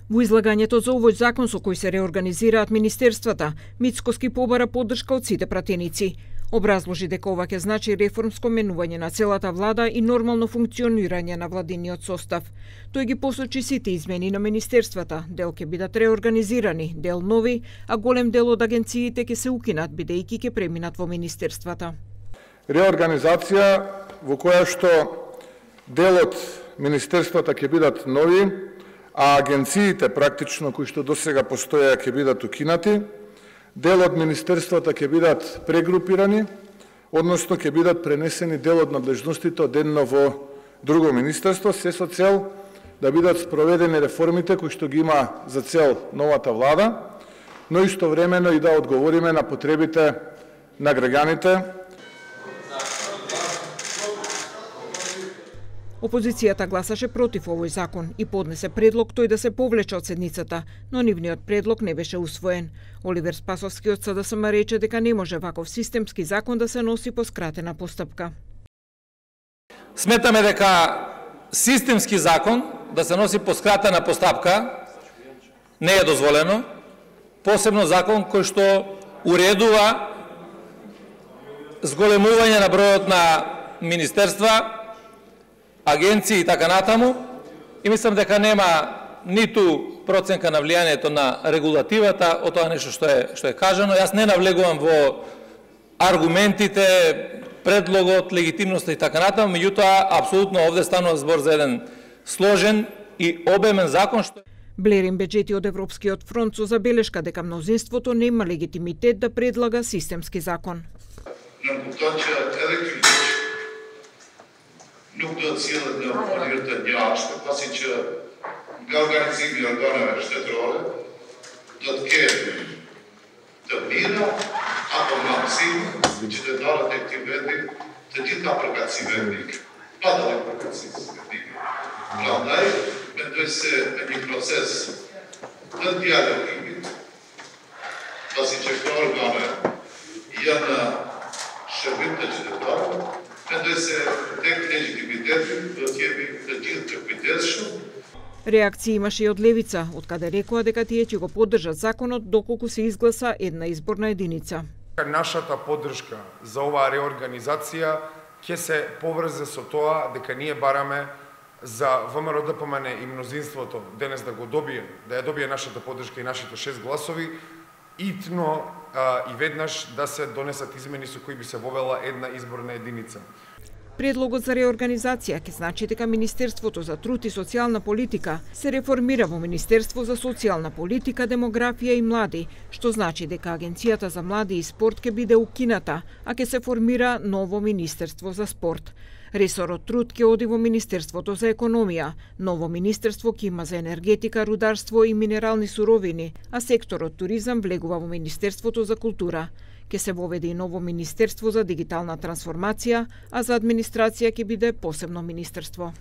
Во излагањето за овој закон со кој се реорганизираат министерствата, Мицкоски побара поддршка од сите пратеници. Образложи дека ова ќе значи реформско менување на целата влада и нормално функционирање на владиниот состав. Тој ги посочи сите измени на министерствата, дел ќе бидат реорганизирани, дел нови, а голем дел од агенциите ќе се укинат бидејќи ќе преминат во министерствата. Реорганизација во која што дел од министерствата ќе бидат нови, а агенциите практично кои што досега постоја ќе бидат укинати. Дел од министерствата ќе бидат прегрупирани, односно ќе бидат пренесени дел од надлежностите од едно во друго министерство, се со цел да бидат спроведени реформите кои што ги има за цел новата влада, но истовремено и да одговориме на потребите на граѓаните. Опозицијата гласаше против овој закон и поднесе предлог тој да се повлече од седницата, но нивниот предлог не беше усвоен. Оливер Спасовски од СДСМ рече дека не може ваков системски закон да се носи по скратена постапка. Сметаме дека системски закон да се носи по скратена постапка не е дозволено, посебно закон кој што уредува зголемување на бројот на министерства, агенции и така натаму, и мислам дека нема ниту проценка на влијанието на регулативата од тоа нешто што е кажано. Јас не навлегувам во аргументите, предлогот, легитимноста и така натаму, меѓутоа апсолутно овде станува збор за еден сложен и обемен закон што Блерин Беџети од Европскиот фронт со забелешка дека мнозинството нема легитимитет да предлага системски закон. Nuk do të cilët në mënyrë të njashme, pasi që nga organizimi i organeve shtetërore do të ketë të mira apo maksimum qytetarët e këtij vendi të gjitha përkatësive etnike, pa dallim përkatësisë etnike. Prandaj, mendoj se në një proces të dialogimit, pasi që këto organe janë shërbim të qytetarëve, mendoj se tek легитимитетот do të jemi të gjithë të kujdesshëm. Реакција имаше и од левица, од каде рекоа дека тие ќе го поддржат законот доколку се изгласа една изборна единица. Нашата поддршка за оваа реорганизација ќе се поврзе со тоа дека ние бараме за ВМРО-ДПМН и мнозинството денес да го добие, да ја добие нашата поддршка и нашите 6 гласови, итно и веднаш да се донесат измени со кои би се вовела една изборна единица. Предлогот за реорганизација ќе значи дека Министерството за труд и социјална политика се реформира во Министерство за социјална политика, демографија и млади, што значи дека Агенцијата за млади и спорт ќе биде укината, а ќе се формира ново Министерство за спорт. Ресорот труд ќе оди во Министерството за економија, ново министерство ќе има за енергетика, рударство и минерални суровини, а секторот туризам влегува во Министерството за култура. Ќе се воведе и ново Министерство за дигитална трансформација, а за администрација ќе биде посебно министерство.